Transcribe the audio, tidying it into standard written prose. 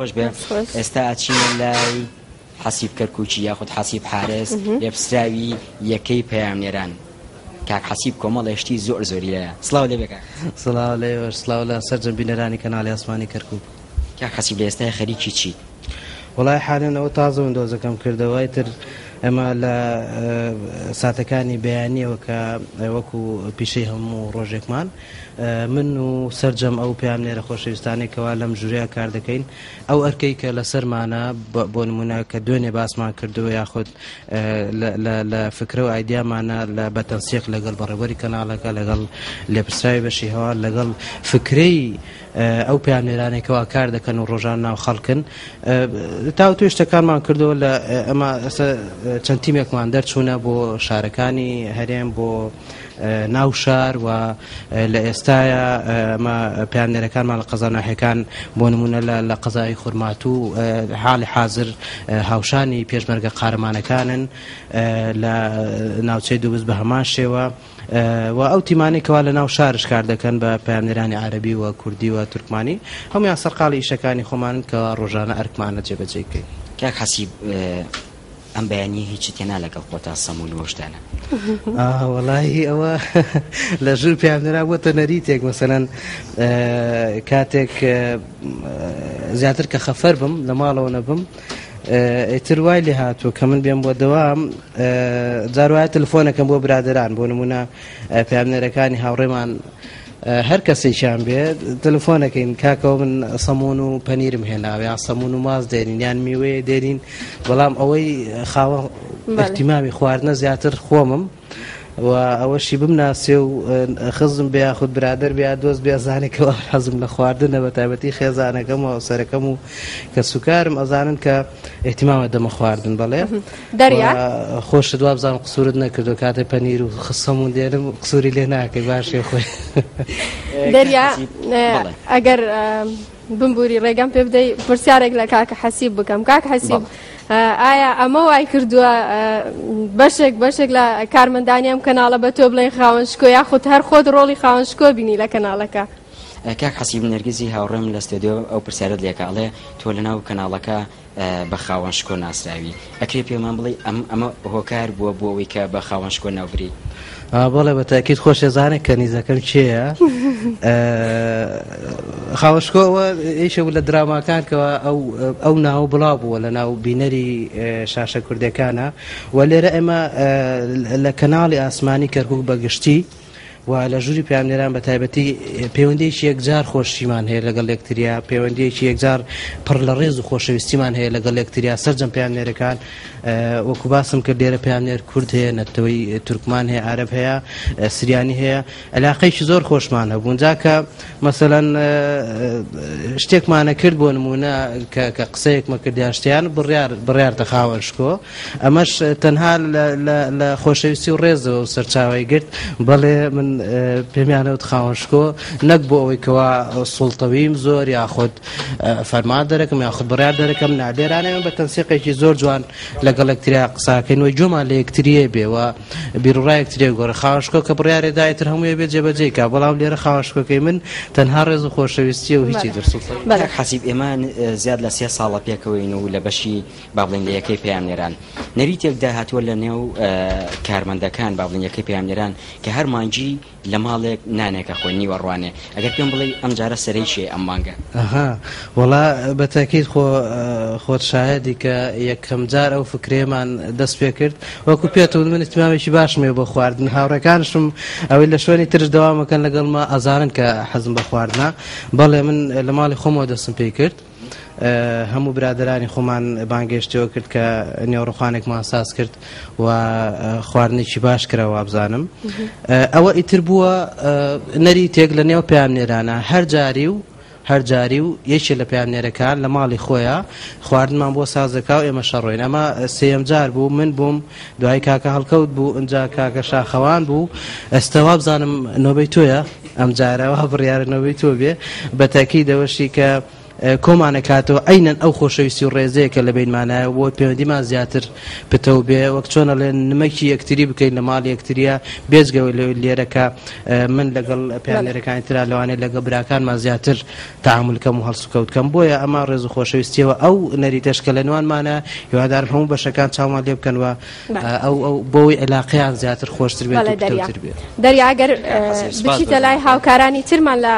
خۆش بێ. ئێستا ئەچینە لای حەسیب کەرکوکی یاخود حەسیب حارس لێپرسراوی یەکەی پەیامنێران. کاک حەسیب کۆمەڵێ شتی زۆر زۆری لایە. سڵاو لێ بێ کاک حەسیب. سڵاو لە ئێوەش، سڵاو لە سەرجەم بینەرانی کەناڵی ئاسمانی کەرکوک. کاک حەسیب لە ئێستای خەریکی چیت؟ وەڵای حالەن ئەوە تازە وندۆزەکەم کردەوە ئیتر ئێمە لە ساتەکانی بەیانیەوە کە وەکو پیشەی هەموو ڕۆژێکمان من و سەرجەم ئەو پەیامنێرە خۆشەویستانەی کەوا لەم ژوورەیا کار دەکەین ئەو ئەرکەی کە لەسەرمانە بۆ نمونە کە دوێنێ باسمان کردووە یاخود لە فکرە و ئایدیامانە لە بە تەنسیق لەگەڵ بەڕێوەری کەناڵەکە لەگەڵ لێپرسراوی بەشی هەواڵ لەگەڵ فکرەی ئەو پەیامنێرانەی کەوا کار دەکەن و ڕۆژان ناو خەڵکن تاوتوێ شتەکانمان کردەوە لە ئەمە چەند تیمێکمان دەرچوونە بۆ شارەکانی هەرێم بۆ ناو شار و لە ئێستایا ئەمە پەیامنێرەکانمان لە قەزا ناحیەکان بۆ نمونە لە قەزای خورماتوو حاڵی حازر هاوشانی پێشمەرگە قارەمانەکانن لە ناوچەی دوبز بە هەمان شێوە و ئەو تیمانەی کەوا لە ناو شارش کار دەکەن بە پەیامنێرانی عەرەبی و کوردی و تورکمانی هەمویان سەرقاڵی ئیشەکانی خۆمانن کەوا ڕۆژانە ئەرکمانە جێبەجێی بکەین. کاک حەسیب ئەم بەیانیە هیچت هێنا لەگەڵ خۆتا سەمون و شتانە؟ ئاه وەڵاهی ئەوە لە ژوور پێیان بۆتە نەریتێک مەسەلەن کاتێک زیاتر کە خەفەر بم لە ماڵەوە نەبم ئیتر وای لێ هاتووە کە من بێم بۆ دەوام جار وایە تەلفۆنەکەم بۆ برادەران بۆ نمونە پەیامنێرەکانی هاوڕێمان هەر کەسێکیان بێ تەلەفۆنەکەین کاکەوە من سەمون و پەنیرم هێناوە یان سەمون و ماست دێنین یان میوەیە دێنین بەڵام ئەوەی خاوە اهتمامی خواردنە زیاتر خۆمم و ئەوەشی بمناسێ و خزم بێ یاخود برادەر بێ یا دۆست بێ ئەزانێ کەوا حەزم لە خواردنە بە تایبەتی خێزانەکەم و هاوسەرەکەم و کەسوکارم ئەزانن کە اهتمامە دەمە خواردن بەڵێ دەریا خۆشت وابزانم قسوورت نەکردو کاتێ پەنیر و سەمون دێنم قسووری لێ ناکەی باشێ خۆی. دەریا ئەگەر بمبوری ڕێگەم پێ بدەی پرسیارێک لە کاکە حەسیب بکەم کاک حەسیب ئایا ئەمە وای کردووە بەشێک بەشێک لە کارمەندانی ئەم کەناڵە بە تۆ بڵێن خاوەن شکۆ یاخود هەر خۆت ڕۆڵی خاوەن شکۆ بینی لە کەناڵەکە؟ کاک حەسیب نەرگزی هاوڕێم لە ستۆدیۆ ئەو پرسیارەت لێکا ئەڵێ تۆ لەناو کەناڵەکە بە خاوەن شکۆ ناسراوی ئەکرێ پێمان بڵێی ئەم ئەمە هۆکار بووە بۆ ئەوەی کە بە خاوەن شکۆ ناو بری؟ بەڵێ بە تاکید خۆش ئەزانێ کەنیزەکەم کێیە خاوەن شکۆ ئەوە یەکێک بوو لە دراماکان کەوا ئەو ئەو ناوە بڵاو بووە لە ناو بینەری شاشە کوردەکانە و لێرە ئێمە لە کەناڵی ئاسمانی کەرکوک بە گشتی و لە ژووری پەیامنێران بە تایبەتی پەیوەندیەکی یەکجار خۆشیمان هەیە لەگەڵ یەکتریا، پەیوەندیەکی یەکجار پڕ لە ڕێز و خۆشەویستیمان هەیە لەگەڵ یەکتریا، سەرجەم پەیامنێرەکان وەکو باسم کرد لێرە پەیامنێر کورد هەیە، نەتەوەی تورکمان هەیە، عەرەب هەیە، سریانی هەیە، علاقەیەکی زۆر خۆشمان هەبوون جا کە مەسەلەن شتێکمانە کرد بۆ نمونە کە قسەیەکمە کرد یان شتیان بڕیار بڕیارتە خاوەن شکۆ ئەمەش تەنها لە خۆشەویستی و ڕێزەوە سەرچاوەی گرت، بەڵێ من پێمیانەوت خاوەن شکۆ نەک بۆ ئەوەی کەوا سوڵتەویم زۆر یاخود فەرمان دەرەکەم یاخود بڕیار دەرەکەم نا، لێرانە ئێمە بە تەنسیقێکی زۆر جوان لەگەڵ یەکتریا قساکەین و گوێمان لە یەکتریە بێ و بیروڕای یەکتریە گۆڕێ. خاوەن شکۆ کە بڕیارێ دا ئیتر هەمووی بێ جێبەجێی کا، بەڵام لێرە خاوەن شکۆکەی من تەنها ڕێز و خۆشەویستیە و هیچی تر سوڵتەوی. کاک حەسیب ئێمە زیاد لە سێ ساڵە پێکەوەین و لە بەشی با بڵێین لە یەکەی پەیامنێران نەریتێک داهاتووە لە نێو کارمەندەکان با بڵێین یەکەی پەیامنێران کە هەر مانگی لە ماڵێک نانێک ئەخۆین نیوەڕوانێ ئەگەر پێم بڵێی ئەم جارە سەرەی کێیە ئەم مانگە؟ ئەها وەڵا بە تەئکید خۆ خۆت شایەدی کە یەکەم جار ئەو فکرەیەمان دەست پێ کرد وەکو پێت وت من ئیهتیمامێکی باشم هەیە بۆ خواردن هاوڕێکانشم ئەوەی لە شوێنی ترش دەوام ئەکەن لەگەڵما ئەزانن کە حەزم بە خواردنە بەڵێ من لە ماڵی خۆمەوە دەستم پێی کرد هەموو برادەرانی خۆمان بانگێشتەوە کرد کە نێوڕخوانێکمان ساز کرد و خواردنێکی باش کرا وابزانم ئەوە ئیتر بووە نەریتێک لە نێو پەیامنێرانە هەر جاری و هەر جاری و یەکێ لە پەیامنێرەکان لە ماڵی خۆیان خواردنمان بۆ ساز دەکا و ئێمە شەڕۆین ئەمە سێیەم جار بوو من بووم دوای کاکە هەڵکەوت بوو ئینجا کاکە شاخەوان بوو ئێستا وابزانم نۆبەی تۆیە ئەم جارە وا بڕیارە نۆبەی تۆ بێ بە تاکیدەوەشی کە کۆمانەکاتەوە عەینەن ئەو خۆشەویستی و ڕێزەیە کە لە بەینمانایە بۆ پەیوەندیمان زیاتر پتەو بێ وەک چۆن ئەڵێن نمەکی یەکتری بکەین لە ماڵی یەکتریە بێجگە لەوەی لێرە کە من لەگەڵ پەیامنێرەکانی ترا لەوانەیە لەگەڵ براکانمان زیاتر تەعامول کەم و هەڵسوکەوت کەم بۆیە ئەمە ڕێز و خۆشەویستیەوە ئەو نەریتەش کە لە نوانمانە هیوادارم هەموو بەشەکان چاومان لێ بکەن و ئەو ئەو بۆی عیلاقەیان زیاتر خۆشتر بێت و پتەوتر بێت. دەریا ئەگەر بچیتە لای هاوکارانی ترمان لە.